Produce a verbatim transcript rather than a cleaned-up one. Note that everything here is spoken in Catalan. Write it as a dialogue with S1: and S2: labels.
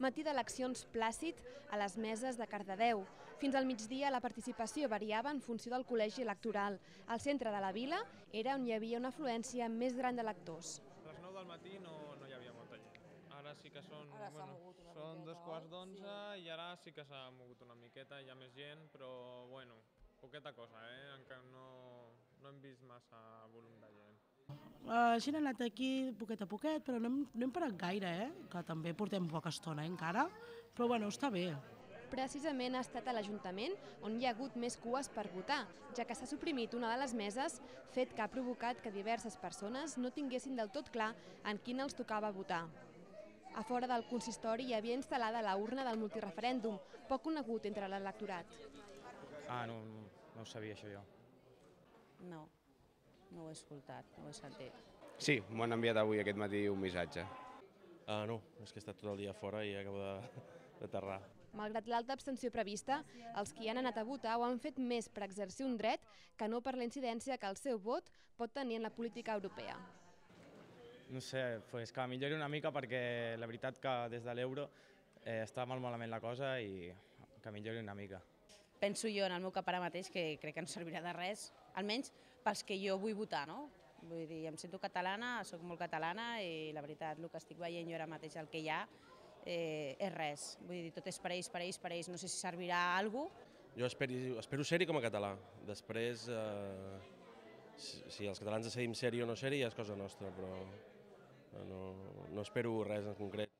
S1: Matí d'eleccions plàcid a les meses de Cardedeu. Fins al migdia la participació variava en funció del col·legi electoral. Al centre de la vila era on hi havia una afluència més gran d'electors.
S2: A les nou del matí no, no hi havia molta gent. Ara sí que són,
S3: Ara s'ha
S2: bueno,
S3: mogut una
S2: són
S3: miqueta,
S2: dos quarts
S3: oi?
S2: d'onze
S3: Sí.
S2: i ara sí que s'ha mogut una miqueta, hi ha més gent, però bueno, poqueta cosa, eh? Encara no, no hem vist massa volum de gent.
S4: La gent ha anat aquí poquet a poquet, però no hem, no hem parat gaire, eh? Que també portem poca estona eh, encara, però bueno, està bé.
S1: Precisament ha estat a l'Ajuntament on hi ha hagut més cues per votar, ja que s'ha suprimit una de les meses, fet que ha provocat que diverses persones no tinguessin del tot clar en quina els tocava votar. A fora del consistori hi havia instal·lada la urna del multireferèndum, poc conegut entre l'electorat.
S5: Ah, no, no, no ho sabia això jo.
S3: No, no ho he escoltat, no ho he sentit.
S6: Sí, m'han enviat avui aquest matí un missatge.
S7: Ah, no, és que he estat tot el dia fora i acabo d'aterrar.
S1: Malgrat l'alta abstenció prevista, els qui han anat a votar ho han fet més per exercir un dret que no per la incidència que el seu vot pot tenir en la política europea.
S5: No sé, pues que millori una mica perquè la veritat que des de l'euro eh, està molt malament la cosa i que millori una mica.
S3: Penso jo en el meu cap ara mateix que crec que no servirà de res, almenys pels que jo vull votar, no? Vull dir, em sento catalana, sóc molt catalana i la veritat, el que estic veient jo ara mateix, el que hi ha, eh, és res. Vull dir, tot és per ells, per ells, per ells, no sé si servirà a alguna cosa.
S7: Jo espero, espero ser-hi com a català. Després, eh, si, si els catalans decidim ser-hi o no ser-hi, ja és cosa nostra, però no, no espero res en concret.